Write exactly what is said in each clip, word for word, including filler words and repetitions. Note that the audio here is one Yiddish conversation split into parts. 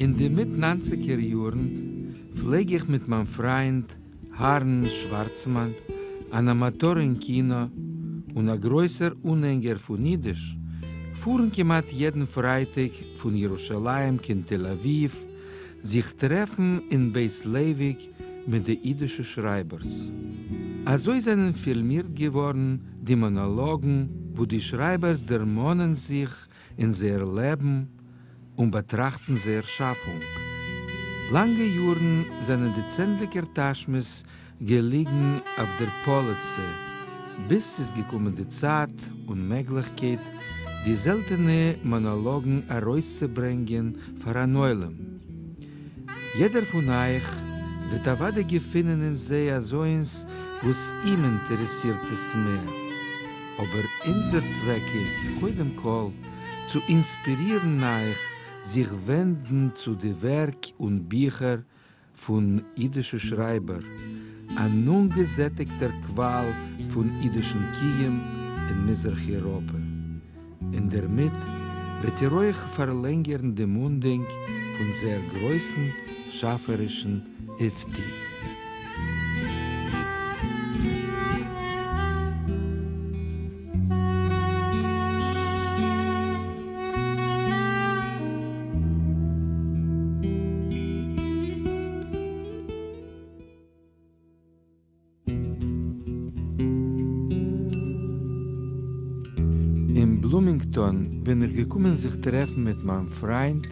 אין די מיט-נײַנציקער יאָרן פֿלעג איך מיט מײַן פֿרײַנד אַהרן שוואַרצמאַן, אַן אַמאַטאָר אין קינאָ און אַ גרויסער אָנהענגער פֿון ייִדיש, פֿאָרן כּמעט יעדן פֿרײַטיק פֿון ירושלים קיין תּל-אָבֿיבֿ, זיך טרעפֿן אין בית-לייוויק מיט די ייִדישע שרײַבערס. אַזוי זענען פֿילמירט געוואָרן די מאָנאָלאָגן, וווּ די שרײַבערס דערמאָנען זיך אין זייער לעבן און באַטראַכטן זייער שאַפֿונג. לאַנגע יאָרן זענען די צענדליקער טאַשמעס געליגן אויף דער פּאָליצע, ביז ס'איז געקומען די צײַט און מעגלעכקייט די זעלטענע מאָנאָלאָגן אַרויסצוברענגען פֿאַר אַן עולם. יעדער פֿון אײַך וועט אַוודאי געפֿינען אין זיי אַזוינס, וואָס אים אינטערעסירט עס מער. אָבער אונדזער צוועק איז, קודם-כּל, צו אינספּירירן אײַך זיך ווענדן צו די ווערק און ביכער פֿון ייִדישע שרײַבער, אַן אָנגעזעטיקטער קוואַל פֿון ייִדישן קיום אין מיזרח-אייראָפּע. און דערמיט וועט איר אויך פֿאַרלענגערן דעם אָנדענק פֿון זייער גרויסן שאַפֿערישן אויפֿטו. אין בלומינגטאָן בין איך געקומען זיך טרעפֿן מיט מײַן פֿרײַנד,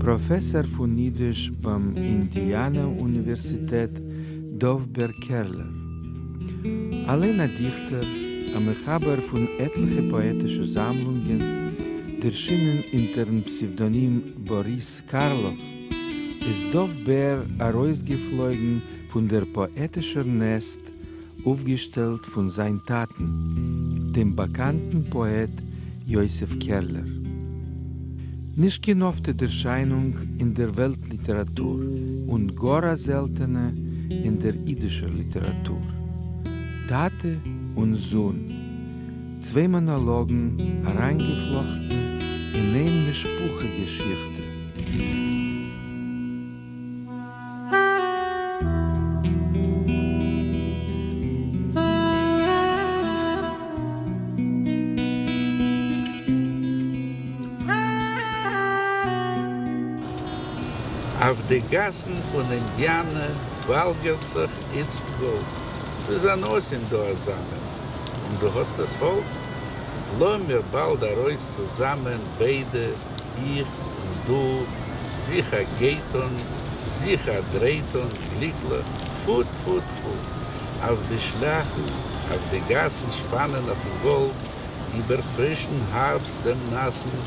פּראָפֿעסאָר פֿון ייִדיש בײַם אינדיאַנע-אוניווערסיטעט דובֿ-בער קערלער. אַליין אַ דיכטער, אַ מחבר פֿון עטלעכע פּאָעטישע זאַמלונגען, דערשינען אונטערן פּסעוודאָנים באָריס קאַרלאָוו, איז דובֿ-בער אַרויסגעפֿלויגן פֿון דער פּאָעטישער נעסט, אויפֿגעשטעלט פֿון זײַן טאַטן, דעם באַקאַנטן פּאָעט יוסף קערלער. נישט קיין אָפֿטע דערשײַנונג אין דער וועלט-ליטעראַטור און גאָר אַ זעלטענע אין דער ייִדישער ליטעראַטור. טאַטע און זון, צוויי מאָנאָלאָגן אַרײַנגעפֿלאָכטן אין איין משפּחה-געשיכטע. אויף די גאַסן פֿון אינדיאַנע וואַלגערט זיך איצט גאָלד. ס'איז אַן אָסין דאָ אַזאַ מין, און דו האָסט עס האָלט. לאָמיר באַלד אַרויס צוזאַמען ביידע, איך און דו, זיך אַ גיי טאָן, זיך אַ דריי טאָן גליקלעך, טפֿו-טפֿו-טפֿו! אויף די שליאַכן, אויף די גאַסן שפּאַנען אויפֿן גאָלד איבער פֿרישן האַרבסט דעם נאַסן,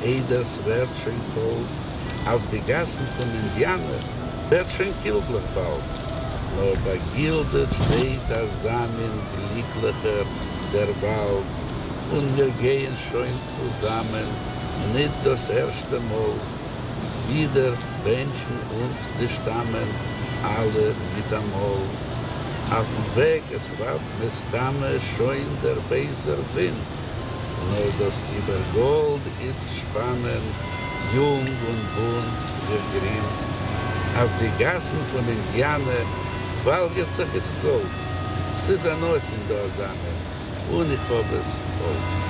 איידער ס'ווערט שוין קאַלט. אויף די גאַסן פֿון אינדיאַנע ווערט שוין קילבלעך באַלד, נאָר באַגילדעט שטייט אַזאַ מין גליקלעכער דער וואַלד, און מיר גייען שוין צוזאַמען ניט דאָס ערשטע מאָל, ווידער בענטשן אונדז די שטאַמען אַלע מיט אַ מאָל. אויפֿן וועג עס וואַרט מסתּמא שוין דער בייזער ווינט, נאָר דאָס איבער גאָלד איצט שפּאַנען יונג און בונט זיך גרינט. אויף די גאַסן פֿון אינדיאַנע וואַלגערט זיך איצט גאָלד. ס'איז אַן אָסין דאָ אַזאַ מין, און איך האָב עס האָלט.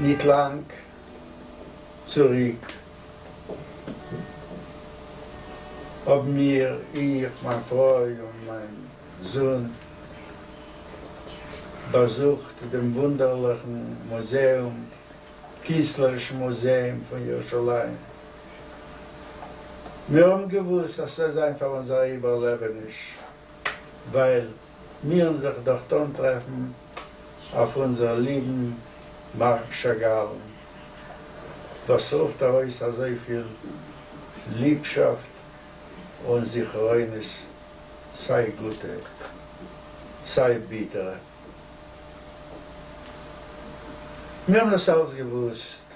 ניט לאַנג צוריק האָבן מיר, איך, מײַן פֿרוי און מײַן זון, באַזוכט דעם וווּנדערלעכן מוזעום, קינסטלערישן מוזעום פֿון ירושלים. מיר האָבן געוווּסט, אַז ס'וועט זײַן פֿאַר אונדז אַ איבערלעבעניש, ווײַל מירן זיך דאָרט אָנטרעפֿן אויף אונדזער ליבן מאַרק שאַגאַלן, וואָס רופֿט אַרויס אַזוי פֿיל ליבשאַפֿט און זכרונות, סײַ גוטע, סײַ ביטערע. מיר האָבן דאָס אַלץ געוווּסט.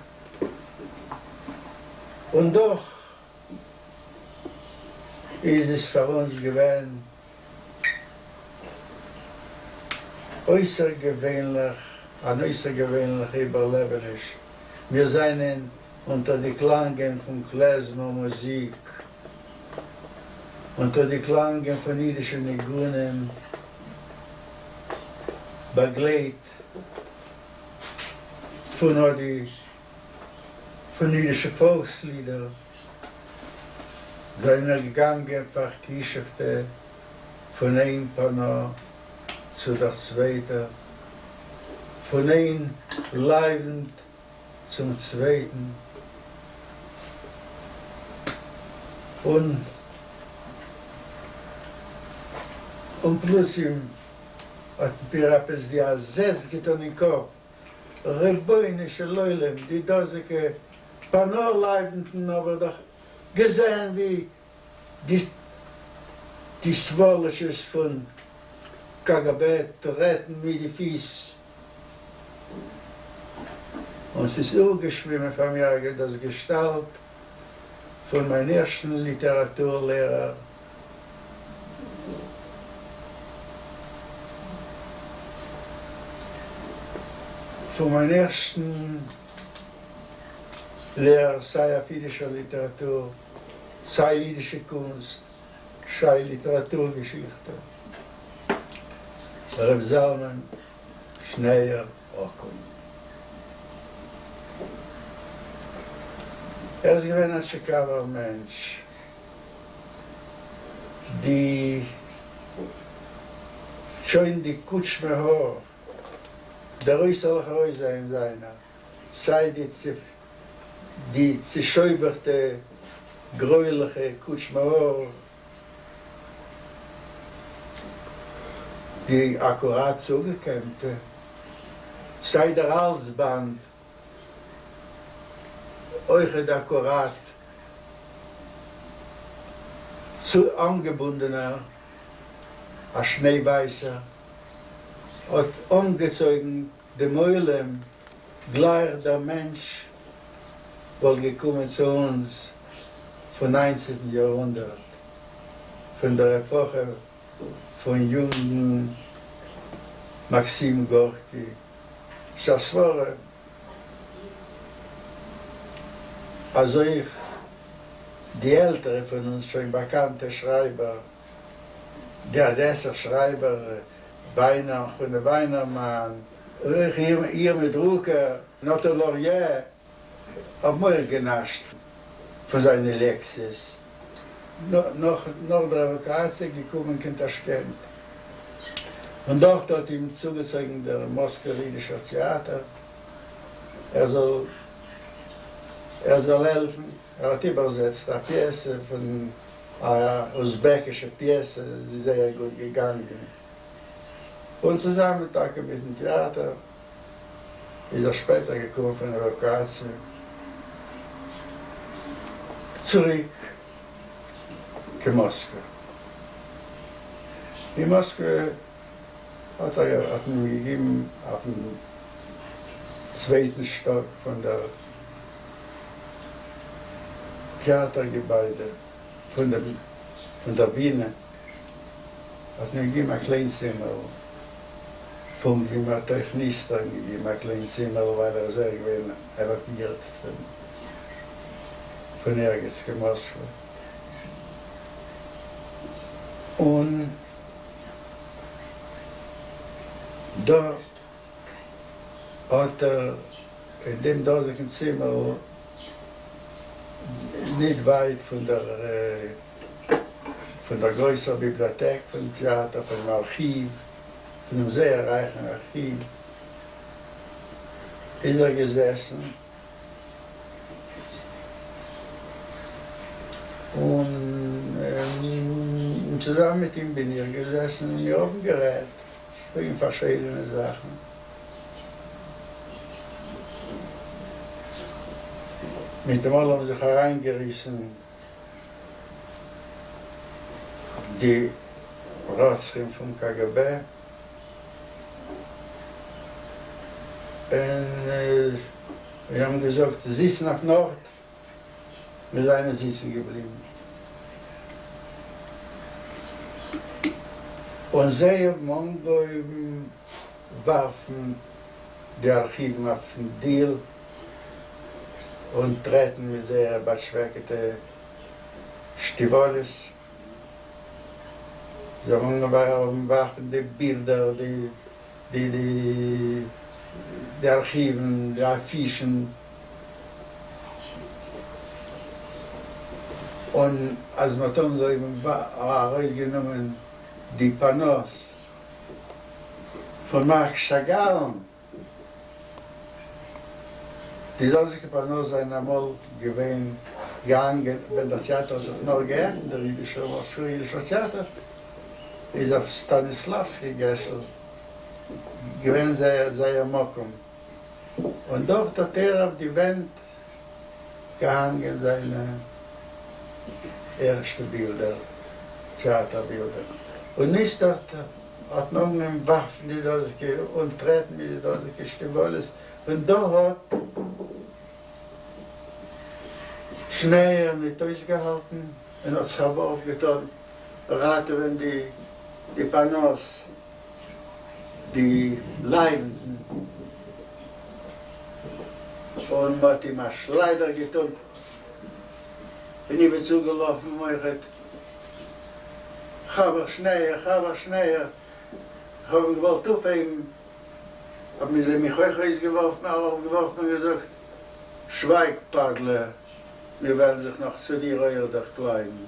און דאָך איז עס פֿאַר אונדז געווען אויסערגעוויינלעך, אַן אויסערגעוויינלעכע איבערלעבעניש. מיר זײַנען אונטער די קלאַנגען פֿון קלעזמער-מוזיק, אונטער די קלאַנגען פֿון ייִדישע ניגונים, באַגלייט פֿון אָט די פֿון ייִדישע פֿאָלקסלידער, זײַנען מיר געגאַנגען פֿאַרכּישופֿטע פֿון איין פּאַנאָ צו דער צווייטער, פֿון איין לייוונט צום צווייטן. און און פּלוצעם האָט מיר עפּעס ווי אַ זעץ געטאָן אין קאָפּ, רבונו של עולם, די דאָזיקע פּאַנאָ-לייוונטן האָב איך דאָך געזען ווי די די סוואָלאָטשעס פֿון קגב טרעטן מיט די פֿיס. און ס'איז אויפֿגעשווימען פֿאַר מיר דאָס געשטאַלט פֿון מײַן ערשטן ליטעראַטור-לערער. פֿון מײַן ערשטן לערער סײַ אויף ייִדישער ליטעראַטור, סײַ ייִדישע קונסט, סײַ ליטעראַטור-געשיכטע. רב זלמן שניאור אָקון. ער איז געווען אַ טשיקאַווער מענטש. די שוין די קוטשמע האָר, דער אויסערלעכער אויסזען זײַנער, סײַ די די צעשויבערטע גרוילעכע קוטשמע האָר, די אַקוראַט צוגעקעמטע, סײַ דער האַלדזבאַנד, אויכעט אַקוראַט צו אָנגעבונדענער, אַ שניי-ווײַסער, האָט אָנגעצויגן דעם עולם, גלײַך דער מענטש וואָלט געקומען צו אונדז פֿון נײַנצנטן יאָרהונדערט, פֿון דער עפּאָכע פֿון יונגן מאַקסים גאָרקי. ס'איז אַ סבֿרה, אַז אויך די עלטערע פֿון אונדז שוין באַקאַנטע שרײַבער, די אָדעסער שרײַבער וויינער, חנה וויינערמאַן, אויך ירמיה דרוקער, נתן לוריע, האָבן אויך גענאַשט פֿון זײַנע לעקציעס. נאָך נאָך דער עוואַקואַציע געקומען קיין טאַשקענט, און דאָרט האָט אים צוגעצויגן דער מאָסקווער ייִדישער טעאַטער, ער זאָל ער זאָל העלפֿן. ער האָט איבערזעצט אַ פּיעסע פֿון אַ אוזבעקישע פּיעסע, זי איז זייער גוט געגאַנגען. און צוזאַמען טאַקע מיטן טעאַטער איז ער שפּעטער געקומען פֿון עוואַקואַציע צוריק קיין מאָסקווע. אין מאָסקווע האָט ער האָט מען אים געגעבן אויפֿן צווייטן שטאָק פֿון דער טעאַטער-געביידע, פֿון דעם פֿון דער בינע, האָט מען געגעבן אַ קליין צימערל. פּונקט ווי מען האָט אויך ניסתּרן געגעבן אַ קליין צימערל, ווײַל ער איז אויך געווען עוואַקואירט פֿון פֿון ערגעץ קיין מאָסקווע. און דאָ האָט ער אין דעם דאָזיקן צימערל, ניט ווײַט פֿון דער פֿון דער גרויסער ביבליאָטעק פֿון טעאַטער, פֿונעם אַרכיוו, פֿונעם זייער רײַכן אַרכיוו, איז ער געזעסן און צוזאַמען מיט אים בין איך געזעסן און מיר האָבן גערעדט וועגן פֿאַרשיידענע זאַכן. מיט דעם אַלעם האָבן זיך אַרײַנגעריסן די רוצחים פון קא גע בע און זיי האבן געזאגט זיצן אויפן ארט, מיר זענען זיצן געבליבן. און זיי האבן אנגעהויבן ווארפן די ארכיוון אויפן דיל און טרעטן מיט זייערע באטשוועקעטע שטיוואלעס. זיי האבן אנגעהויבן ווארפן די בילדער, די די די די ארכיוון, די אפישן. און אז מ'האט אנגעהויבן ארויסגענומען די פאנאס פון מארק שאגאלן, די דאזיקע פאנאס זענען אמאל געווען געהאנגען ווען דער טעאטער האט זיך נאר געעפנט, דער אידישער מאסקווער אידישער טעאטער איז אויף סטאניסלאווסקי געסל געווען זייער זייער מקום, און דארט האט ער אויף די ווענט געהאנגען זיינע ערשטע בילדער, טעאטער בילדער, און איצטערט האט מען אנגעהויבן ווארפן די דאזיקע און טרעטן מיט די דאזיקע שטיוואלעס, און דא האט שניאור ניט אויסגעהאלטן און האט זיך א ווארף געטאן ראטעווען די די פאנאס, די לייוונטן, און מ'האט אים א שליידער געטאן, און איך בין צוגעלאפן אויכעט, חבר שניאור, חבר שניאור, כ'האב אים געוואלט אויפהייבן, האבן זיי מיך אויך אויסגעווארפן, אראפגעווארפן און געזאגט, שווייג, פאדלע, מיר וועלן זיך נאך צו דיר אויך דערקלייבן.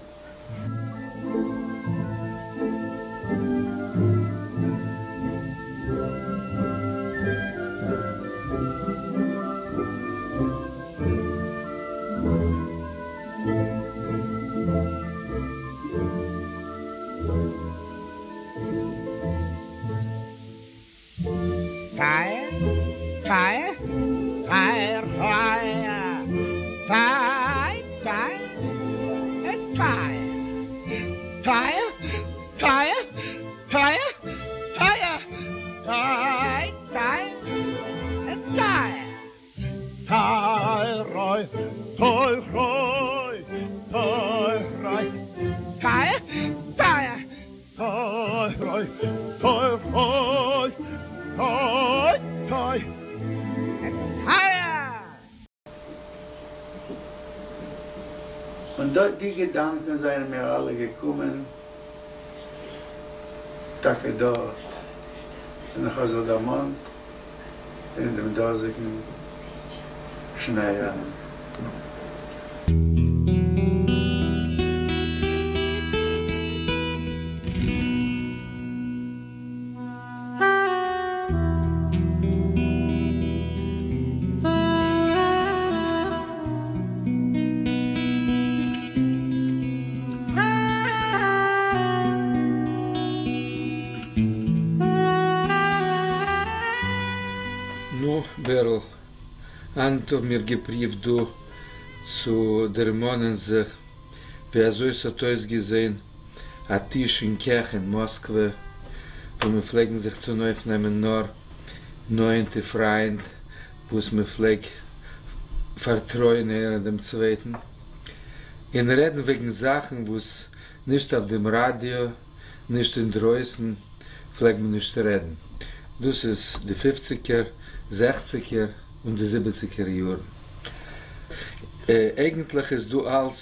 פייער! פייער! פייער! פייער! פיי! פיי! פייער! פייער! פייער! פייער! פייער! פיי! פיי! פייער! טיי ריי! טיי ריי! טיי ריי! פייער! פייער! טיי ריי! טיי ריי! טיי טיי! פייער! און דאָ די געדאַנקען זײַנען מיר אַלע געקומען טאַקע דאָרט, און איך האָב זיך דערמאָנט אין דעם דאָזיקן שניאורן. נו, בערל, הײַנט האָבן מיר געפּרוּווט דאָ צו דערמאָנען זיך, ווי אַזוי ס'האָט אויסגעזען אַ טיש אין קיך אין מאָסקווע, וווּ מיר פֿלעגן זיך צונויפֿנעמען נאָר נאָענטע פֿרײַנד, וואָס מע פֿלעג פֿאַרטרויען איינער דעם צווייטן, און רעדן וועגן זאַכן, וואָס נישט אויף דעם ראַדיאָ, נישט אין דרויסן פֿלעג מען נישט רעדן. דאָס איז די פֿופֿציקער, זעכציקער און די זיבעציקער יאָרן. אייגנטלעך איז דאָ אַלץ,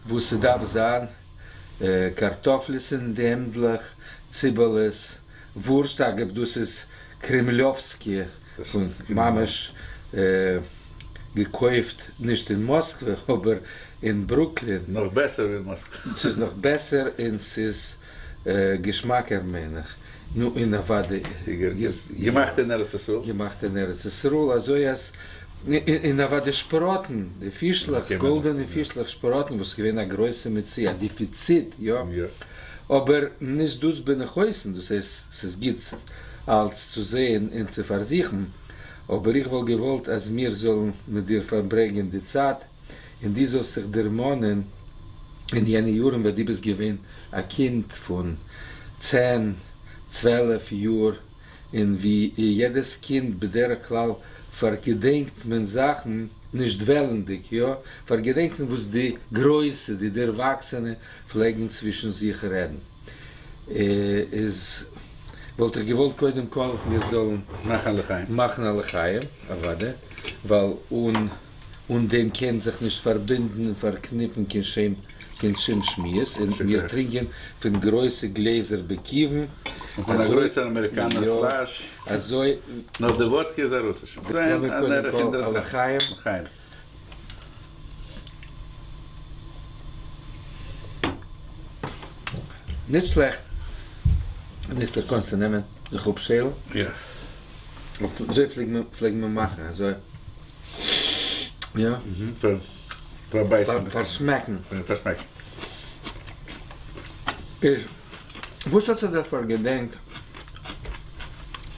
וואָס ס'דאַרף זײַן, קאַרטאָפֿלעס אין די העמדלעך, ציבעלעס, וווּרשט, אגבֿ, דאָס איז קרעמליאָווסקיע, פֿון ממש געקויפֿט נישט אין מאָסקווע, אָבער אין ברוקלין. נאָך בעסער ווי אין מאָסקווע. ס'איז נאָך בעסער און ס'איז געשמאַקער, מיין איך. נו, און אַוודאי. געמאַכט אין ארץ ישראל. געמאַכט אין ארץ ישראל, אַזוי אַז און אַוודאי שפּראָטן, די פֿישלעך, גאָלדענע פֿישלעך, שפּראָטן, וואָס איז געווען אַ גרויסע מציאה, אַ דעפֿיציט, יאָ. אָבער נישט דאָס בין איך אויסן, דאָס הייסט, ס'איז גוט אַלץ צו זען און צו פֿאַרזוכן, אָבער איך וואָלט געוואָלט, אַז מיר זאָלן מיט דיר פֿאַרברענגען די צײַט און דו זאָלסט זיך דערמאָנען אין יענע יארן ווען דו ביסט געווען א קינד פון צען צוועלף יאר, און ווי יעדעס קינד בדרך כלל פארגעדענקט מען זאכן נישט וועלנדיג, יא, פארגעדענקט מען וואס די גרויסע, די דערוואקסענע פלעגן צווישן זיך רעדן. איז וואלט איך געוואלט קודם כל מיר זאלן מאכן א לחיים. מאכן א לחיים, אוודאי, ווייל אן אן דעם קען זיך נישט פארבינדן און פארקניפן קיין שום קיין שום שמועס, און מיר טרינקען פון גרויסע גלעזער בכיוון. און פון א גרויסער אמעריקאנער פלאש. אזוי. נאר די וואדקע איז א רוסישע. לאמיר קודם כל א לחיים. לחיים. נישט שלעכט. מיסטער קאנסטו נעמען זיך אפשעלן? יא. אזוי פלעג מען מאכן, אזוי. יא. פארבייסן. פארשמעקן. פארשמעקן. איז וואס האט זיך דער פארגעדענקט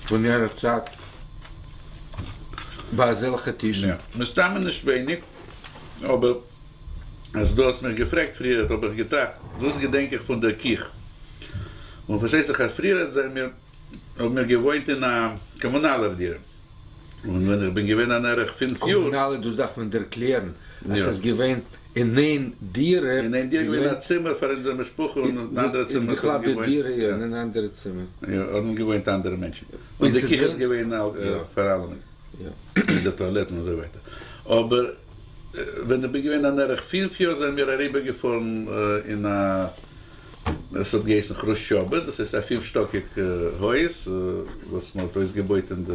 פון יענער צייט ביי אזעלכע טישן? יא. מסתמא נישט ווייניג, אבער אז דו האסט מיך געפרעגט פריערט האב איך געטראכט וואס געדענק איך פון דער קיך, און פארשטייט זיך אז פריערט זענען מיר האבן מיר געוואוינט אין א קאמונאלער דירה, און ווען איך בין געווען אן ערך פֿינף יאר. קאמונאלע, דאס דארף מען ערקלערן, אז ס'איז געווען אין איין דירה. אין איין דירה געווען א צימער פאר אונזער משפחה און אן אנדערע צימער האבן בכלל די געוואוינט. דירה, יא, אין אן אנדערע צימער. יא, האבן געוואוינט אנדערע מענטשן. און די קיך איז געווען פאר אלעמען. מיט די טואלעטן און אזוי ווייטער. אבער ווען איך בין געווען אן ערך פֿינף יאר זענען מיר אריבערגעפארן אין א, עס האט געהייסן כרושטשאבע, דאס הייסט א פינף שטאקיג הויז וואס מען האט אויסגעבויט אין די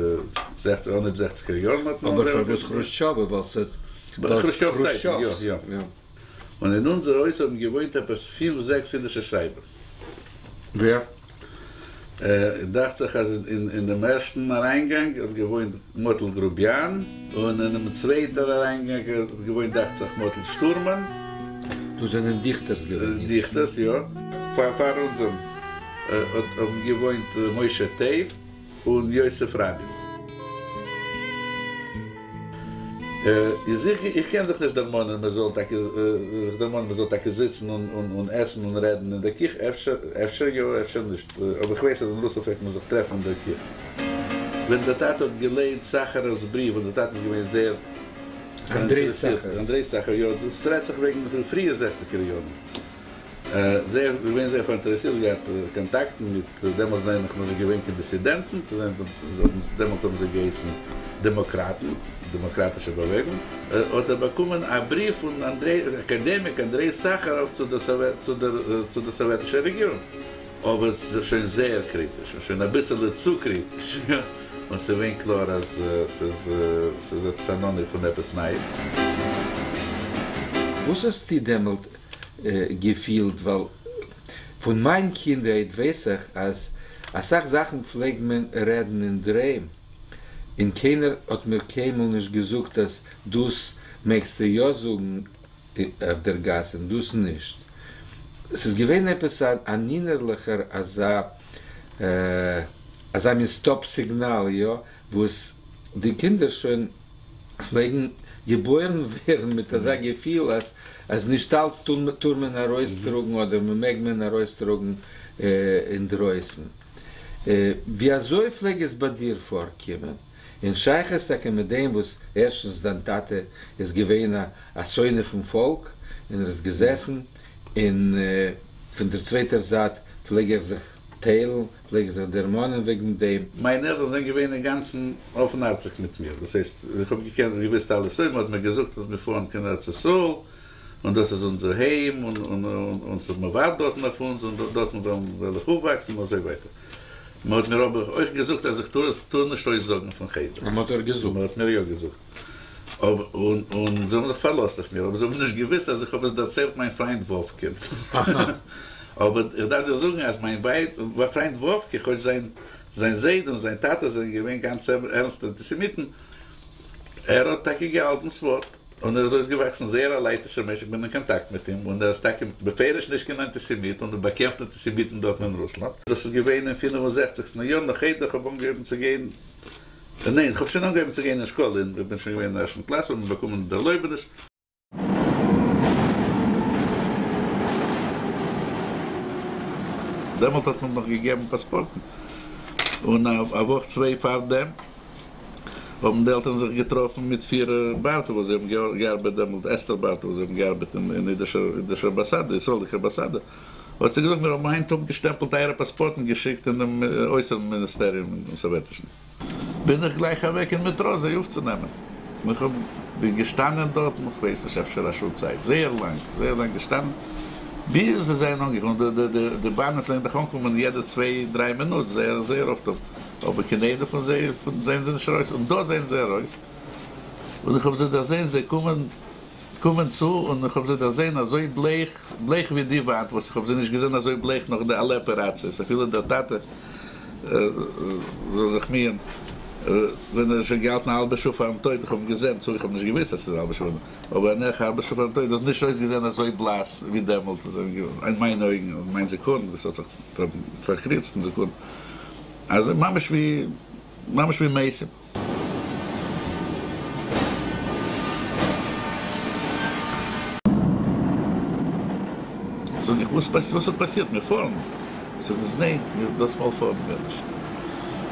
זעכציג, אנהויב זעכציגער יארן האט מען אבער פארוואס כרושטשאבע? ווייל ס'האט כרושטשאוו צייטן, יא, יא. און אין אונזער הויז האבן געוואוינט עפעס פינף זעקס אידישע שרייבער. ווער? דאכט זיך אז אין דעם ערשטן אריינגאנג האט געוואוינט מאטל גרוביאן, און אינעם צווייטער אריינגאנג האט געוואוינט דאכט זיך מאטל שטורמאן. דאס זענען דיכטערס געווען אידישע? דיכטערס, יא. פאר אונז האבן געוואוינט משה טעוו און יוסף ראבין. איז איך איך קען זיך נישט דערמאנען מען זאל טאקע זיך דערמאנען מען זאל טאקע זיצן און און עסן און רעדן אין דער קיך, אפשר אפשר יא אפשר נישט, אבער איך ווייס אז אין רוסלאנד פלעגט מען זיך טרעפן אין דער קיך. ווען דער טאטע האט געלייענט סאכאראוו'ס בריוו, און דער טאטע איז געווען זייער אנדרעי סאכאראוו. אנדרעי סאכאראוו, יא, דאס רעדט זיך וועגן פון פריע זעכציגער יארן. זייער געווען זייער פאראינטערעסירט, געהאט קאנטאקטן מיט, דעמאלט זענען נאך נישט געווען קיין דיסידענטן, דעמאלט האבן זיי געהייסן דעמאקראטן, דעמאקראטישע באוועגונג, האט ער באקומען א בריוו פון אנדרעי, אקאדעמיק אנדרעי סאכאראוו צו דער צו דער סאוועטישער רעגירונג, אבער ס'איז שוין זייער קריטיש, און שוין אביסעלע צו קריטיש, און ס'איז געווען קלאר אז ס'איז עפעס אן אנהויב פון עפעס נייעס. וואס האסטו דעמאלט געפילט, ווייל פון מיין קינדהייט ווייס איך אז אסאך זאכן פלעגט מען רעדן אינדערהיים, און קיינער האט מיר קיינמאל נישט געזאגט אז דאס מעגסטו יא זאגן אויף דער גאס און דאס נישט. ס'איז געווען עפעס אן אינערליכער אזא אזא מין סטאפ סיגנאל, יא, וואס די קינדער שוין פלעגן געבוירן ווערן מיט אזא געפיל אז אז נישט אלץ טאר מען ארויסטראגן אדער מעג מען ארויסטראגן אינדרויסן. ווי אזוי פלעג עס ביי דיר פארקומען? אין שייכות טאקע מיט דעם וואס ערשטנס דיין טאטע איז געווען א שונא פון פאלק און ער איז געזעסן, און פון דער צווייטער זייט פלעג ער זיך טיילן, פלעג ער זיך דערמאנען וועגן דעם. מיינע עלטערן זענען געווען אינגאנצן אפנהארציג מיט מיר, דאס הייסט, איך האב געקענט און געוואוסט אלעס, אויב מען האט מיר געזאגט אז מיר פארן קיין ארץ ישראל, און דאס איז אונזער היים, און און און ס'איז מען ווארט דארטן אויף אונז, און דארטן וועל איך אויפוואקסן, און אזוי ווייטער. מען האט מיר אבער אויך געזאגט אז איך טאר עס טאר נישט אויסזאגן פון חדר. און מען האט דיר געזאגט? מען האט מיר יא געזאגט. אבער און און זיי האבן זיך פארלאזט אויף מיר, אבער זיי האבן נישט געוואוסט אז איך האב עס דערציילט מיין פריינט וואווקע. אבער איך דארף דיר זאגן אז מיין פריינט וואווקע, כאטש זיין זיין זיידע און זיין טאטע זענען געווען גאנץ ערנסטע אנטיסעמיטן, ער האט טאקע געהאלטן ס'ווארט, און ער איז אויסגעוואקסן זייער א לייטישער מענטש, איך בין אין קאנטאקט מיט אים, און ער איז טאקע בפירוש נישט קיין אנטיסעמיט, און ער באקעמפט אנטיסעמיטן דארטן אין רוסלאנד. דאס איז געווען אין פֿינף און זעכציקסטן יאר, נאך איידער איך האב אנגעהויבן צו גיין, ניין, איך האב שוין אנגעהויבן צו גיין אין שקאלע, איך בין שוין געווען אין ערשטן קלאס, האט מען באקומען די ערלויבעניש. דעמאלט האט מען נאך געגעבן פאספארטן. און א וואך צוויי פאר דעם האבן די עלטערן זיך געטראפן מיט פירע בארטע, וואס זיי האבן געארבעט דעמאלט, אסתר בארטע, וואס זיי האבן געארבעט אין אידישער אמבאסאדע, ישראלדיקער אמבאסאדע. האט זי געזאגט, מיר האבן היינט אפגעשטעמפלט אייערע פאספארטן, געשיקט אין דעם אויסערן מיניסטעריום אין סאוועטישן. בין איך גלייך אוועק אין מעטרא זיי אויפצונעמען. איך האב בין געשטאנען דארט, איך ווייס נישט, אפשר א שעה צייט, זייער לאנג, זייער לאנג געשטאנען, ביז זיי זענען אנגעקומען. די, די, די באנען פלעגן דאך אנקומען יעדע צוויי, דריי מינוט, זייער, זייער אפט. אבער קיין איינער פון זיי, פון זענען זיי נישט ארויס. און דא זענען זיי ארויס. און איך האב זיי דערזען, זיי קומען, קומען צו, און איך האב זיי דערזען אזוי בלייך, בלייך ווי די וואנט, וואס איך האב זיי נישט געזען אזוי בלייך נאך די אלע אפעראציעס. אפילו דער טאטע, זאל זיך מיען, ווען ער איז שוין געהאלטן א האלבע שעה פארן טויט, איך האב אים געזען, צו איך האב נישט געוואוסט אז ס'איז א האלבע שעה, אבער נאך א האלבע שעה פארן טויט, האט נישט אויסגעזען אזוי בלאס ווי דעמאלט, אין מיינע אויגן, אין מיין זכרון, וואס האט זיך פארקריצט אין זכרון. אז ממש ווי, ממש ווי מתים. זאג איך, וואס וואס האט פאסירט? מיר פארן. זאגן זיי, ניין, מיר דאס מאל פארן מיר נישט.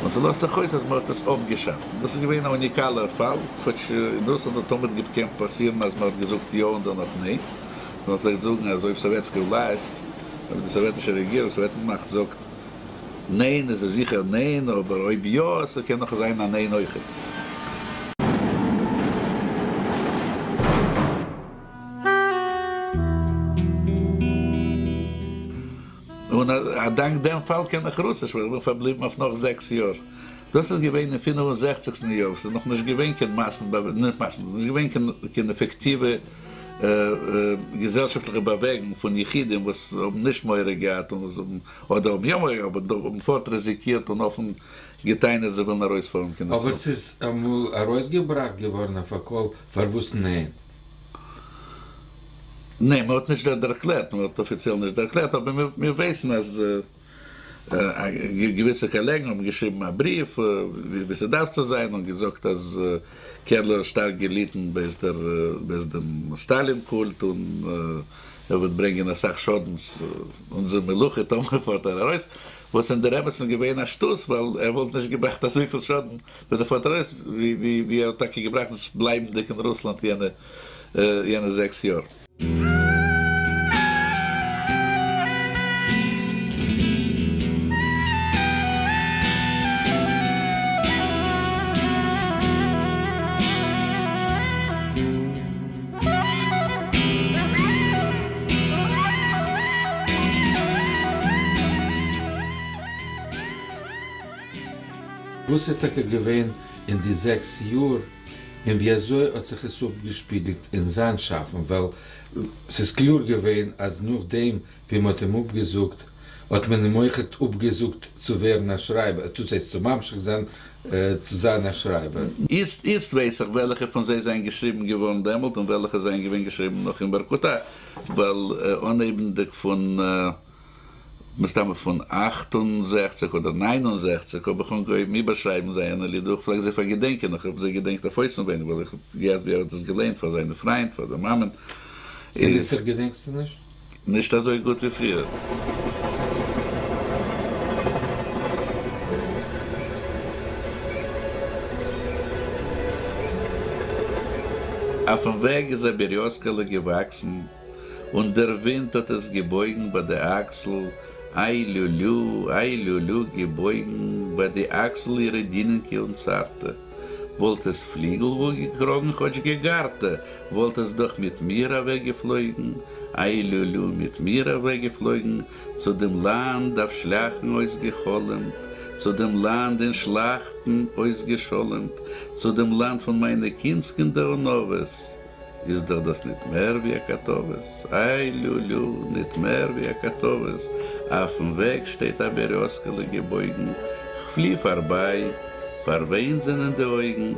און ס'לאזט זיך אויס, אז מען האט עס אפגעשאפט. דאס איז געווען א אוניקאלער פאל, כאטש אין רוסלאנד האט תמיד געקענט פאסירן, אז מען האט געזאגט יא און דערנאך ניין. מען פלעגט זאגן, אז אויב סאוועטסקע власть, אויב די סאוועטישע רעגירונג, סאוועטן-מאכט זאגט ניין, איז עס זיכער ניין, אבער אויב יא, עס קען נאך זיין א ניין אויך. און א דאנק דעם פאל קען איך רוסיש, ווייל איך בין פארבליבן אויף נאך זעקס יאר. דאס איז געווען אין פינף און זעכציגסטן יאר, עס איז נאך נישט געווען קיין מאסן, נישט מאסן, עס איז נישט געווען קיין, קיין עפעקטיווע, געזעלשאפטליכע באוועגונג פון יחידים, וואס האבן נישט מורא געהאט און וואס האבן, אדער האבן יא מורא געהאט, אבער האבן פארט ריזיקירט און אפן געטענה'ט, זיי ווילן ארויספארן קיין אבער ישראל. עס איז אמאל ארויסגעבראכט געווארן אויף א קול, פארוואס ניין? ניין, מען האט נישט דערקלערט, מען האט אפיציעל נישט דערקלערט, אבער מיר, מיר ווייסן, אז געוויסע קאלעגן האבן געשריבן א בריוו, ווי, ווי ס'דארף צו זיין, און געזאגט, אז קערלער האט שטארק געליטן בעת דער, בעת דעם סטאלין-קולט און ער וועט ברענגען א סך שאדנס אונזער מלוכה, טאמער פארט ער ארויס, וואס אין דער אמת'ן געווען א שטות, ווייל ער וואלט נישט געבראכט אזויפיל שאדן, ווען ער פארט ארויס, ווי, ווי, ווי ער האט טאקע געבראכט, דאס בלייבנדיג אין רוסלאנד יענע, יענע זעקס יאר. וואס איז טאקע געווען אין די זעקס יאר און ווי אזוי האט זיך עס אפגעשפיגלט אין זיין שאפן, ווייל עס איז קלאר געווען, אז נאכדעם, ווי מען האט אים אפגעזאגט, האט מען אים אויך אפגעזאגט צו ווערן א שרייבער, טוט זיי צו ממשיך זיין, צו זיין א שרייבער. איצט, איצט ווייס איך, וועלכע פון זיי זענען געשריבן געווארן דעמאלט און וועלכע זענען געווען געשריבן נאך אין ווארקוטא, ווייל אנהייבנדיג פון מסתמא פון אכט און זעכציק אדער ניין און זעכציק האב איך אנגעהויבן איבערשרייבן זיינע לידער. איך פלעג זיי פארגעדענקען, איך האב זיי געדענקט אויף אויסנווייניג, ווייל איך האב געהערט, ווי ער האט עס געלייענט פאר זיינע פריינד, פאר דער מאמען. און איצט געדענקסטו נישט? נישט אזוי גוט ווי פריער. אויפן וועג איז א בעריאזקעלע געוואקסן, און דער ווינט האט עס געבויגן ביי די אקסל, איי לולו, איי לולו, געבויגן ביי די אקסל אירע דינענקע און צארטע. וואלט עס פליגל וואו געקראגן, כאטש געגארטע, וואלט עס דאך מיט מיר אוועקגעפלויגן, איי לולו, מיט מיר אוועקגעפלויגן, צו דעם לאנד אויף שליאכן אויסגעחלומט, צו דעם לאנד אין שלאכטן אויסגעשולמט, צו דעם לאנד פון מיינע קינדסקינדער און אבות. איז דאך דאס ניט מער ווי א קאטאוועס, איי לולו, ניט מער ווי א קאטאוועס. אויפן וועג שטייט א בעריאזקעלע געבויגן, כ'פלי פארביי, פארוויינט זענען די אויגן,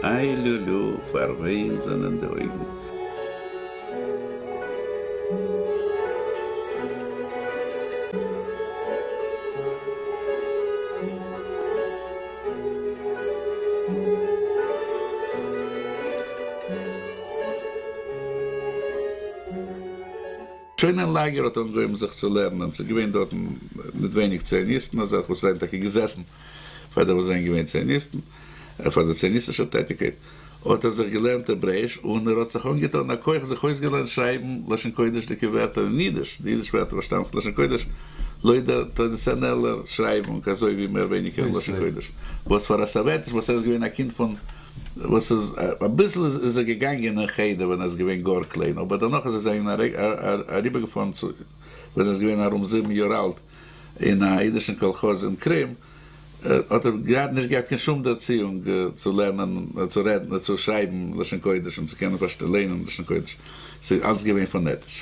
איי לולו, פארוויינט זענען די אויגן. שוין אין לאַגער האָט אָנגעהויבן זיך צו לערנען, ס'איז געווען דאָרטן ניט ווייניק ציוניסטן, אַזעלכע וואָס זענען טאַקע געזעסן פאַר דעם וואָס זענען געווען ציוניסטן, פאַר דער ציוניסטישער טעטיקייט, האָט ער זיך געלערנט העברעיש און ער האָט זיך אָנגעטאָן אַ כח זיך אויסגעלערנט שרייבן לשון-קודשדיקע ווערטער אין יידיש, די יידיש ווערטער וואָס שטאַמען פון לשון-קודש, לויט דער טראַדיציאָנעלער שרייבונג, אַזוי ווי מער ווייניגער לשון-קודש, וואָס פאַר אַ סאָוועטיש, וואָס ער איז געווען אַ קינד פון, וואָס איז, אַביסל איז ער געגאַנגען אין חדר ווען ער איז געווען גאָר קליין, אָבער דערנאָך איז ער אַריבערגעפאָרן צו, ווען ער איז געווען אַרום זיבן יאָר אַלט, אין אַ יידישן קאָלכאָז אין קרים, האָט ער גראַד נישט געהאַט קיין שום דערציאונג צו לערנען, צו רעדן, צו שרייבן לשון-קודש און צו קענען פאַרשטיין, לייענען לשון-קודש. ס'איז אַלץ געווען פאָנעטיש.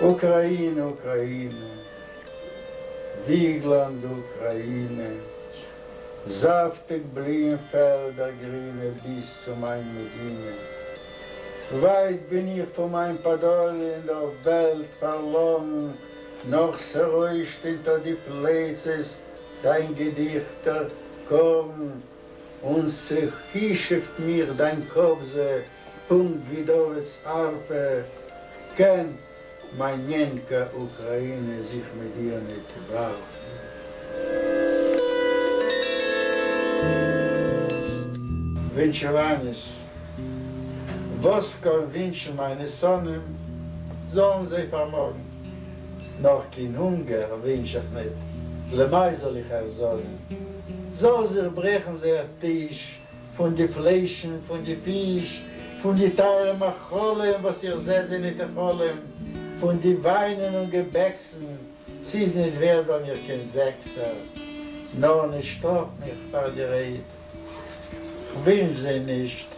אוקראַיִנע, אוקראַיִנע, וויגלאַנד אוקראַיִנע, זאַפֿטיק בליִען פֿעלדער גרינע ביז צו מײַן מדינה. ווײַט בין איך פֿון מײַן פּאַדאָליע אין דער וועלט פֿאַרלאָרן, נאָך ס'רוישט אונטער די פּלייצעס דײַן געדיכטער קאָרן, און ס'כּישופֿט מיך דײַן קאָבזע, פּונקט ווי דודס האַרפֿע. כ'קען, מײַן ניענקע אוקראַיִנע, זיך מיט דיר ניט וואַרפֿן. ווינטשעוואַניעס, וואָס כ'קאָן ווינטשן מײַנע שׂונאים, זאָלן זיי פֿאַרמאָגן. נאָר קיין הונגער ווינטש איך ניט, למאַי זאָל איך אײַך זאָגן? זאָל זיך ברעכן זייער טיש פֿון די פֿליישן, פֿון די פֿיש, פֿון די טײַערע מאכלים, וואָס איך זע זיי ניט אין חלום, פֿון די ווײַנען און געבעקסן, ס'איז ניט ווערט בײַ מיר קיין זעקסער. נאָר נישט שטראָף מיך פֿאַר די רייד. כ'ווינטש זיי נישט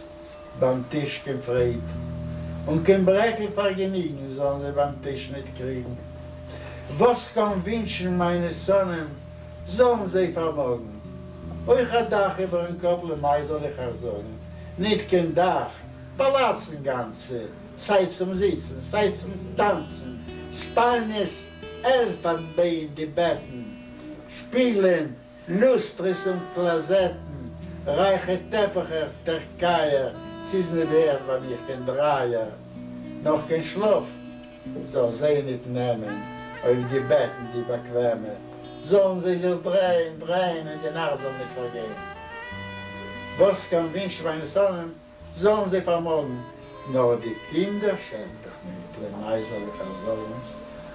בײַם טיש קיין פֿרייד, און קיין ברעקל פֿאַרגעניגן זאָלן זיי בײַם טיש ניט קריגן. וואָס כ'קאָן ווינטשן מײַנע שׂונאים, זאָלן זיי פֿאַרמאָגן. אויך אַ דאַך איבערן קאָפּ, למאַי זאָל איך אײַך זאָגן? ניט קיין דאַך, פּאַלאַצן גאַנצע, סײַ צום זיצן, סײַ צום טאַנצן, ספּאַלניעס, עלפֿנביין די בעטן, שפּיגלען, לוסטרעס און קלאָזעטן, רײַכע טעפּעכער, טערקײַער, ס'איז ניט ווערט בײַ מיר קיין דרײַער. נאָר קיין שלאָף זאָל זיי ניט נעמען אויף די בעטן די באַקוועמע, זאָלן זיי זיך דרייען, דרייען און די נאַכט זאָל ניט פֿאַרגיין. וואָס כ'קאָן ווינטשן מײַנע שׂונאים, זאָלן זיי פֿאַרמאָגן, נאָר די קינדער שענד איך ניט, למאַי זאָל איך אײַך זאָגן?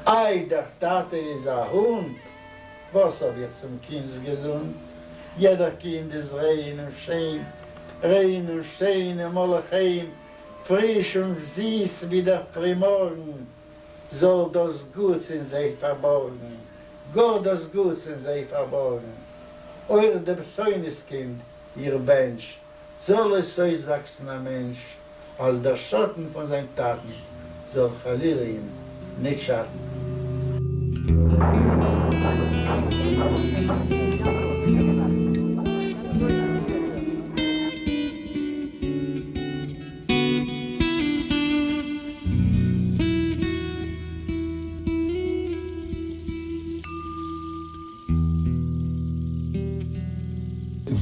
אײַ, דער טאַטע איז אַ הונט! וואָס האָב איך צום קינדס געזונט? יעדער קינד איז ריין און שיין, ריין און שיין און מלא חן, פֿריש און זיס ווי דער פֿרימאָרגן. זאָל דאָס גוטס אין זיי פֿאַרבאָרגן, גאָר דאָס גוטס אין זיי פֿאַרבאָרגן. אויך דעם שׂונאס קינד איך בענטש, זאָל עס אויסוואַקסן אַ מענטש, אַז דער שאָטן פֿון זײַן טאַטן זאָל חלילה אים ניט שאַטן.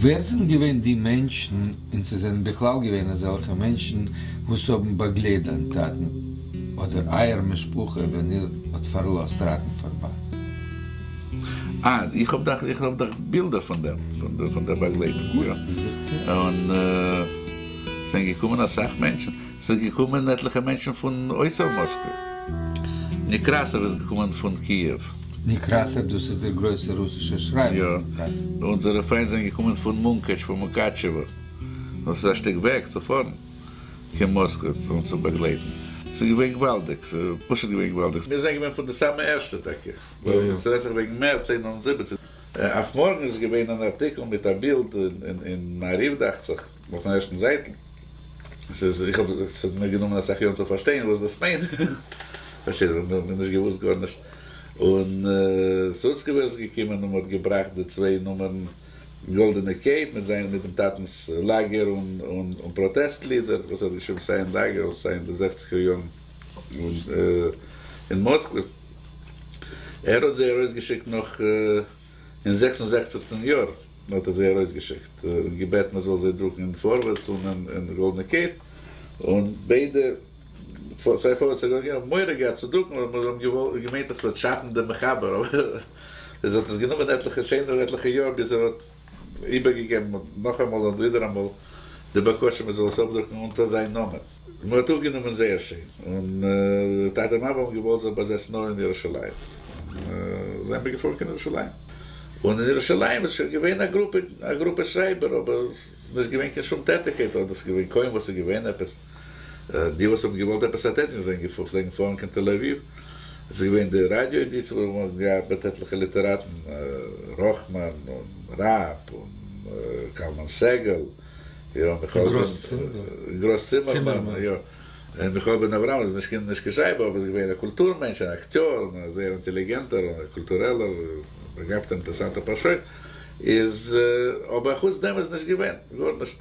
ווער זענען געווען די מענטשן, און צי זענען בכלל געווען אזעלכע מענטשן, וואס האבן באגלייט דיין טאטן אדער אייער משפחה ווען איר האט פארלאזט ראטנפארבאנד? אה, איך האב דאך, איך האב דאך בילדער פון דעם, פון דער באגלייטונג, יא. און ס'זענען געקומען אסאך מענטשן. ס'איז געקומען עטליכע מענטשן פון אויסער מאסקווע. נעקראסאוו איז געקומען פון קיעוו. נעקראסאוו, דאס איז דער גרויסער רוסישער שרייבער. יא. אונזערע פריינט זענען געקומען פון מונקאטש, פון מוקאטשעווא. דאס איז א שטיק וועג צו פארן קיין מאסקווע אונז צו באגלייטן. ס'איז געווען געוואלדיג. ס'איז פשוט געווען געוואלדיג. מיר זענען געווען פון די סאמע ערשטע טאקע. ווייל ס'רעדט זיך וועגן מערץ איין און זיבעציק. אויף מארגן איז געווען אן ארטיקל מיט א בילד אין מעריב דאכט זיך, אויפן ערשטן זייטל. ס'איז, איך האב, ס'האט מיר גענומען אסאך יארן צו פארשטיין וואס דאס מיינט. פארשטייט זיך, מ'האט נישט געוואוסט גארנישט. און סוצקעווער איז געקומען און מ'האט געבראכט די צוויי נומערן גאלדענע קייט מיט זיין, מיט דעם טאטנ'ס לאגער און און פראטעסט לידער וואס ער האט געשריבן סיי אין לאגער און סיי אין די זעכציגער יארן אין מאסקווע. ער האט זיי ארויסגעשיקט נאך אין זעקס און זעכציגסטן יאר האט ער זיי ארויסגעשיקט און געבעטן מען זאל זיי דרוקן אין פארווערטס און אין גאלדענע קייט, און ביידע סיי פארווערטס סיי גאלד האבן מורא געהאט צו דרוקן ווייל מיר האבן געמיינט אז ס'וועט שאטן דעם מחבר, אבער עס האט עס גענומען עטליכע שענער עטליכע יאר ביז ער האט איבערגעגעבן נאכאמאל און ווידעראמאל די בקשה מען זאל עס אפדרוקן אונטער זיין נאמען. מען האט אויפגענומען זייער שיין, און טאטע מאמע האבן געוואלט זיך באזעצן נאר אין ירושלים, זענען מיר געפארן קיין ירושלים, און אין ירושלים איז שוין געווען א גרופע, א גרופע שרייבער, אבער ס'איז נישט געווען קיין שום טעטיקייט, אדער ס'איז געווען קוים וואס איז געווען עפעס, די וואס האבן געוואלט עפעס א טעטיקייט זענען געפארן, פלעגן פארן קיין תל אביב, עס איז געווען די ראדיא עדיציע וואו מ'האט געארבעט עטליכע ליטעראטן, ראכמאן און ראב און קלמן סגל, יא, מיכאל בן, גראס צימערמאן, יא, און מיכאל בן אברהם איז נישט קיין נישט קיין שרייבער אבער איז געווען א קולטור מענטש, אן אקטיאר, און א זייער אינטעליגענטער און א קולטורעלער באגאבטער אינטערעסאנטער פארשוין, איז אבער אחוץ דעם איז נישט געווען גארנישט,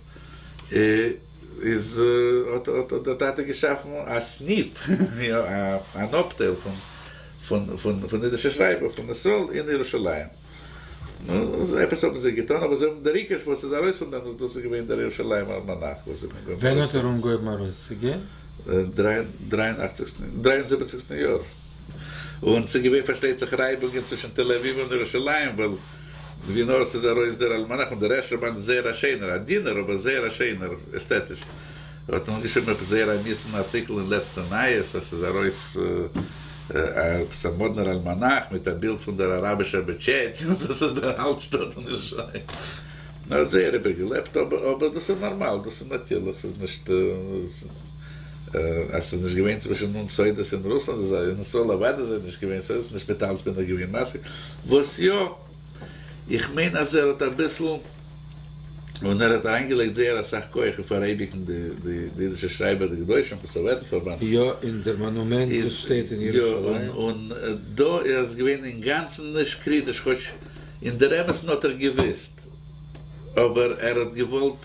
איז האט האט דער טאטע געשאפן א סניף, יא, אן אפטייל פון פון פון פון אידישע שרייבער פון ישראל אין ירושלים. נו, עפעס האבן זיי געטאן, אבער זיי האבן דער עיקר וואס איז ארויס פון דעם, דאס איז געווען דער ירושלימער אלמאנאך וואס זיי האבן ווען האט ער אנגעהויבן ארויסצוגעבן? דרײַ און אַכציק, דרײַ און זיבעציק יאר. און ס'איז געווען פארשטייט זיך רייבונגען צווישן תל אביב און ירושלים, ווייל ווי נאר ס'איז ארויס דער אלמאנאך, און דער ערשטער באנד איז זייער א שענער, א דינער אבער זייער א שענער עסטעטיש, האט מען אנגעשריבן עפעס זייער א מיאוס'ן ארטיקל אין לעצטע נייעס אז ס'איז ארויס עפעס א מאדנער אלמאנאך מיט א בילד פון דער אראבישער מעטשעט, און דאס איז דער אלטשטאט פון ירושלים. מען האט זייער איבערגעלעבט, אבער דאס איז נארמאל, דאס איז נאטירליך, ס'איז נישט אז ס'איז נישט געווען צווישן אונז סודות אין רוסלאנד, איז אין ישראל אוודאי זענען נישט געווען סודות, נישט מיט אלץ בין איך געווען מסכים, וואס יא, איך מיין אז ער האט אביסל, און ער האט אריינגעלייגט זייער אסאך כח אין פאראייביגן די די אידישע שרייבער די קדושים פון סאוועטן פארבאנד. יא, און דער מאנומענט וואס שטייט אין ירושלים. יא, און דא איז געווען אינגאנצן נישט קריטיש, כאטש אין דער אמת'ן האט ער געוואוסט, אבער ער האט געוואלט,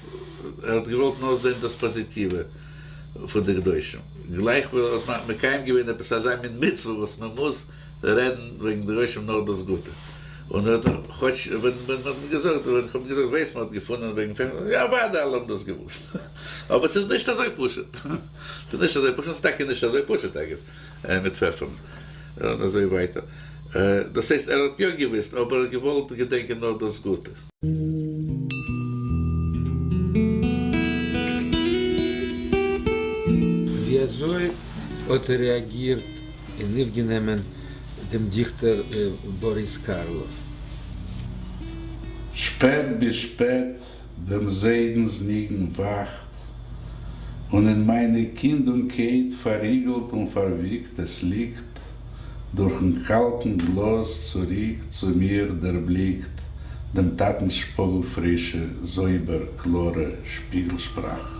ער האט געוואלט נאר זען דאס פאזיטיווע פון די קדושים, גלייך ווי ער האט מקיים געווען עפעס אזא מין מצוה וואס מען מוז רעדן וועגן די קדושים נאר דאס גוטע, און ער האט כאטש ווען מען האט מיר געזאגט, ווען איך האב געזאגט ווייסט מען האט געפונען וועגן פעפער, יא אוודאי אלע האבן דאס געוואוסט, אבער ס'איז נישט אזוי פשוט, ס'איז נישט אזוי פשוט, ס'איז טאקע נישט אזוי פשוט אגב מיט פעפערן און אזוי ווייטער, דאס הייסט ער האט יא געוואוסט אבער ער האט געוואלט געדענקען נאר דאס גוטע. ווי אזוי האט ער רעאגירט און אויפגענומען דעם דיכטער באריס קארלאוו? שפעט ביז שפעט דעם זיידנס ניגון וואכט, און אין מיינע קינד און קייט פארריגלט און פארוויגט עס ליגט, דורכן קאלטן גלאז צוריק צו מיר דערבליקט דעם טאטנס שפאגל פרישע זויבער קלארע שפיגל שפראך.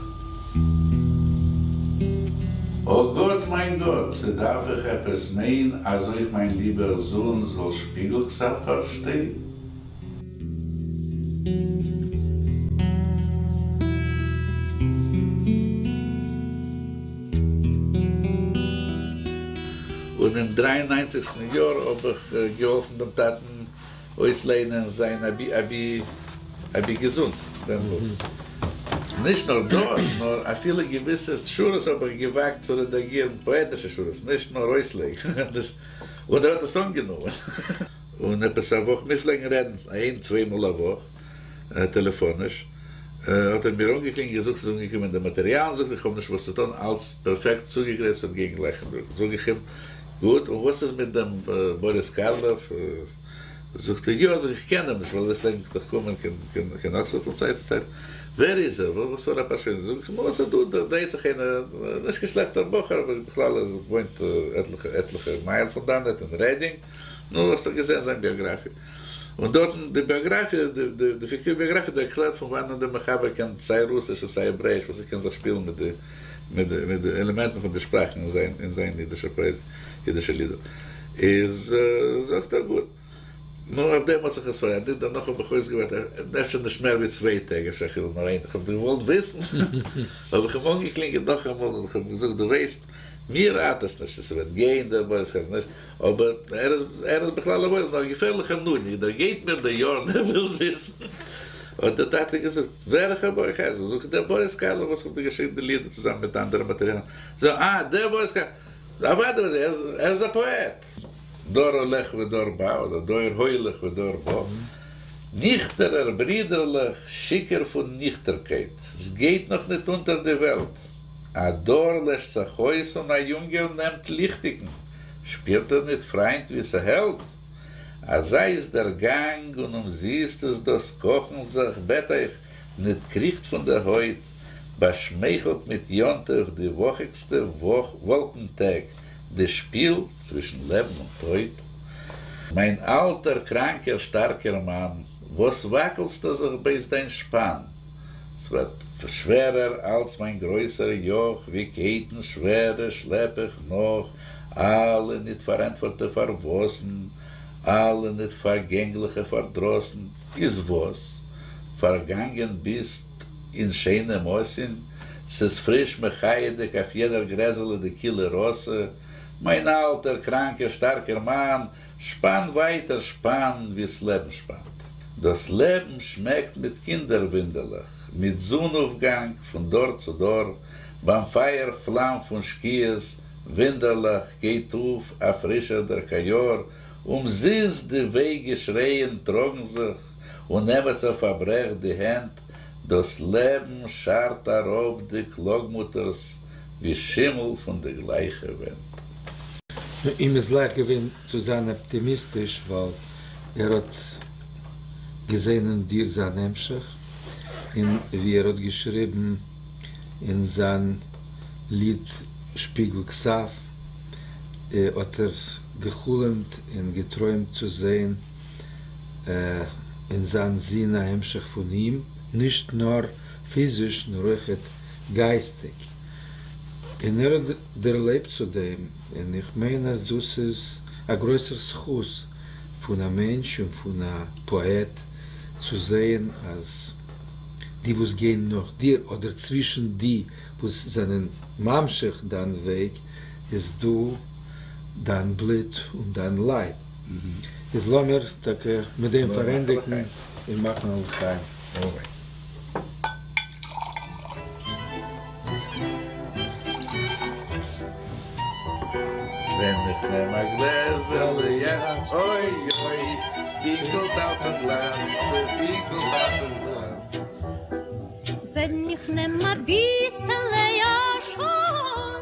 אָ גאָט, מײַן גאָט, צי דאַרף איך עפּעס מײן, אַז אױך מײַן ליבער זון זאָל שפּיגל-כּתבֿ פֿאַרשטײן? און אין דרײַ און נײַנציקסטן יאָר האָב איך געהאָלפֿן דעם טאַטן אויסלייענען זיין אבי אבי אבי געזונט דעם בוך. נישט נאר דאס, נאר אפילו געוויסע שורות האב איך געוואגט צו רעדאגירן, פאעטישע שורות, נישט נאר אויסלייגן. און ער האט עס אנגענומען. און עפעס א וואך, מיר פלעגן רעדן איין צוויי מאל א וואך טעלעפאניש, האט ער מיר אנגעקלינגען געזאגט ס'איז אנגעקומען די מאטעריאלן, זאגט ער איך האב נישט וואס צו טון, אלץ פערפעקט צוגעגרייט ס'וועט גיין גלייך אין דרוק. זאג איך אים, גוט, און וואס איז מיט דעם באריס קארלאוו? זאגט ער, יא, זאג איך, כ'קען אים נישט, ווייל זיי פלעגן דאך קומען קיין אקספארד פון צייט צו צייט, ווער איז ער? וואס פאר א פארשוין? זאג איך, נו, עס איז דא, דא דרייט זיך איינער, נישט קיין שלעכטער בחור, אבער בכלל ער וואוינט עטליכע עטליכע מייל פון דאנעט אין רעדינג, נו, האסט דאך געזען זיין ביאגראפיע. און דארטן, די ביאגראפיע, די פיקטיווע ביאגראפיע דערקלערט פון וואנען דער מחבר קען סיי רוסיש און סיי העברעאיש, וואס ער קען זיך שפילן מיט די מיט די עלעמענטן פון די שפראכן אין זיין אין זיין אידישער פרעז אידישע לידער. איז זאגט ער גוט. נו, אויף דעם האט זיך עס פארענדיגט, דערנאך האב איך אויסגעווארט אפשר נישט מער ווי צוויי טעג, אפשר אפילו נאר איין, איך האב געוואלט וויסן, האב איך אים אנגעקלינגען נאכאמאל און איך האב אים געזאגט, דו ווייסט, מיר ארט עס נישט צו ס'וועט גיין דער באריס אדער נישט, אבער ער איז ער איז בכלל א וואוילער נאר א געפערליכער נודניק, דער גייט מיר די יארן ער וויל וויסן, האט דער טאטע געזאגט, וועלכער ברוך הייזל? זאג איך, דער באריס קארלאף וואס האט געשריבן די לידער צוזאמען מיט אנדערע מאטעריאלן. זאג, אה, דער באריס קארלאף. אוודאי, ער איז א פאעט. דור הולך ודור בא, אדער דור הולך ודור בא. ניכטערער, ברידערלעך, שיכור פון ניכטערקייט. ס'גייט נאך ניט אונטער די וועלט. א דור לעשט זיך אויס און א יונגער נעמט ליכטיקן. שפירט איר ניט, פריינט, ווי ס'העלט? אזא איז דער גאנג און אומזיסט איז דאס קאכן זיך, בעט אייך, ניט קריכט פון דער הויט, באשמייכלט מיט יום-טוב די וואכיקסטע וואלקן-טעג, די שפיל צווישן לעבן און טויט. מיין אלטער קראנקער שטארקער מאן, וואס וואקלסטו זיך בעת דיין שפאן? ס'ווערט שווערער אלץ מיין גרויסער יאך, ווי קייטן שווערע שלעפ איך נאך אלע ניט פארענטפערטע פארוואסן, אלע ניט פארגענגליכע פארדראסן. איז וואס? פארגאנגען ביסט אין שיינעם אסיען, ס'איז פריש מחיה'דיג אויף יעדער גרעזעלע די קילע ראסע, מיין אלטער קראנקער שטארקער מאן, שפאן ווייטער שפאן ווי ס'לעבן שפאנט. דאס לעבן שמעקט מיט קינדער-ווינדעלעך, מיט זון-אויפגאנג פון דור צו דור, ביים פייער פלאם פון שקיעות, ווינדערלעך גייט אויף א פרישער דער קאיאר, אומזיסט די וויי-געשרייען טראגן זיך, און עמעצער פארברעכט די הענט, דאס לעבן שארט אראפ די קלאגמוטערס ווי שימל פון די גלייכע ווענט. נו, אים איז לייכט געווען צו זיין אפטימיסטיש, ווייל ער האט געזען אין דיר זיין המשך, און ווי ער האט געשריבן אין זיין ליד שפיגל כתב, האט ער געחלומט און געטרוימט צו זען אין זיין זון א המשך פון אים, נישט נאר פיזיש, נאר אויכעט גייסטיג. און ער האט דערלעבט צו דעם, און איך מיין אז דאס איז א גרויסער זכות פון א מענטש און פון א פאעט צו זען אז די וואס גייען נאך דיר, אדער צווישן די וואס זענען ממשיך דיין וועג, איז דא דיין בלוט און דיין לייב. איז לאמיר טאקע מיט דעם פארענדיגן און מאכן א לחיים. אמן. ווען איך נעם א גלעזעלע יאש, אוי אוי, פינקלט אלץ און גלאנצט, פינקלט אלץ און גלאנצט. ווען איך נעם א ביסעלע יאשאן,